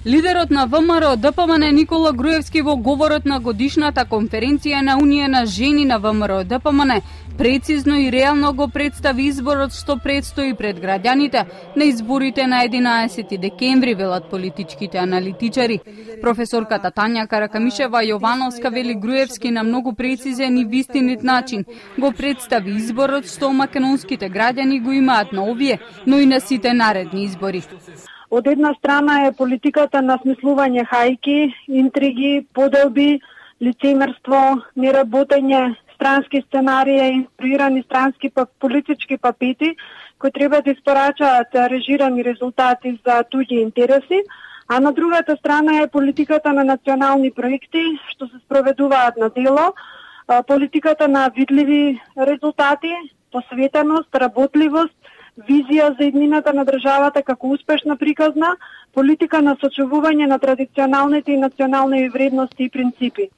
Лидерот на ВМРО ДПМН Никола Груевски во говорот на годишната конференција на Унија на жени на ВМРО ДПМН прецизно и реално го представи изборот што предстои пред граѓаните на изборите на 11 декември, велат политичките аналитичари. Професорката Тања Каракамишева Јовановска вели Груевски на многу прецизен и вистинит начин го представи изборот што македонските граѓани го имаат на овие, но и на сите наредни избори. Од една страна е политиката на смислување хајки, интриги, поделби, лицемерство, неработење, странски сценарии, инструирани странски политички папети, кои треба да испорачаат режирани резултати за туѓи интереси, а на другата страна е политиката на национални проекти, што се спроведуваат на дело, политиката на видливи резултати, посветеност, работливост, визија за иднината на државата како успешна приказна, политика на сочувување на традиционалните и национални вредности и принципи.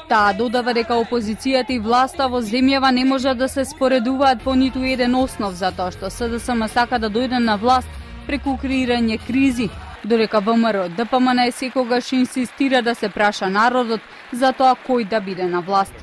Таа додава дека опозицијата и власта во земјава не можат да се споредуваат по ниту еден основ, затоа што СДСМ сака да дојде на власт преку креирање кризи, додека ВМРО ДПМН секогаш инсистира да се праша народот за тоа кој да биде на власт.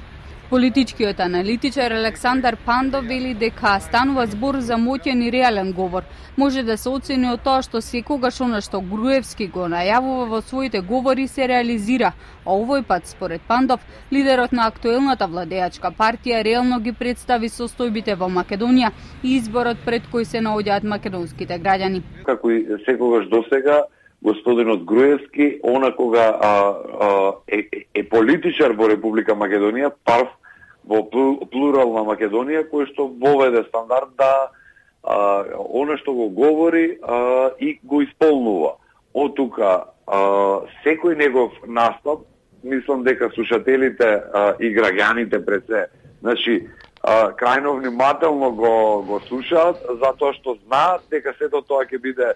Политичкиот аналитичар Александар Пандов вели дека станува збор за моќен и реален говор. Може да се оцени од тоа што секогаш она што Груевски го најавува во своите говори се реализира, а овој пат, според Пандов, лидерот на актуелната владеачка партија реално ги представи состојбите во Македонија и изборот пред кој се наоѓаат македонските граѓани. Како и секогаш досега, господинот Груевски, она кога е политичар во Република Македонија, прв во плурална Македонија, кој што воведе стандард да она што го говори и го исполнува. Од тука секој негов настап, мислам дека слушателите и граѓаните пред се, значи крајно внимателно го слушаат, затоа што знаат дека сето тоа ќе биде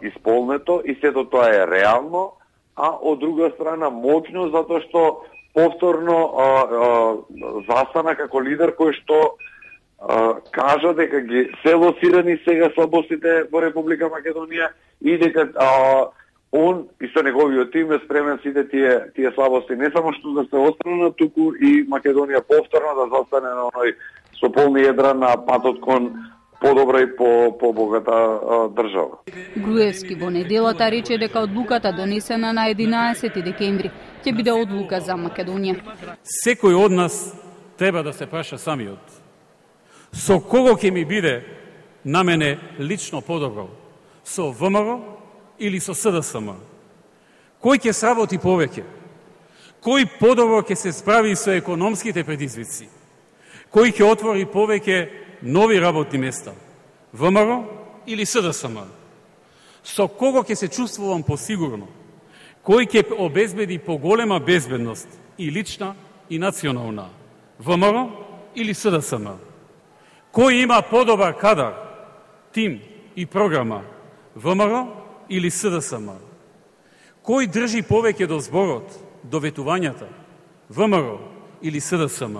исполнето и сето тоа е реално, а од друга страна моќно, затоа што повторно застана како лидер кој што кажа дека ги се лоцирани сега слабостите во Република Македонија и дека он и со неговиот тим е спремен сите тие слабости не само што да се отстранат, туку и Македонија повторно да застане на оној со полни едра на патот кон подобра и по-богата држава. Груевски во неделата рече дека одлуката донесена на 11 декември ќе биде одлука за Македонија. Секој од нас треба да се праша самиот. Со кого ќе ми биде на мене лично подобро? Со ВМРО или со СДСМ? Кој ќе сработи повеќе? Кој подобро ќе се справи со економските предизвици? Кој ќе отвори повеќе нови работни места? ВМРО или СДСМ? Со кого ќе се чувствувам посигурно? Кој ќе обезбеди поголема безбедност и лична и национална? ВМРО или СДСМ? Кој има подобар кадар, тим и програма? ВМРО или СДСМ? Кој држи повеќе до зборот, до ветувањата? ВМРО или СДСМ?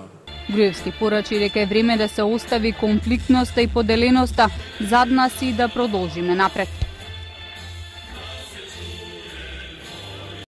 Груевски порачи дека е време да се остави конфликтноста и поделеноста зад нас и да продолжиме напред.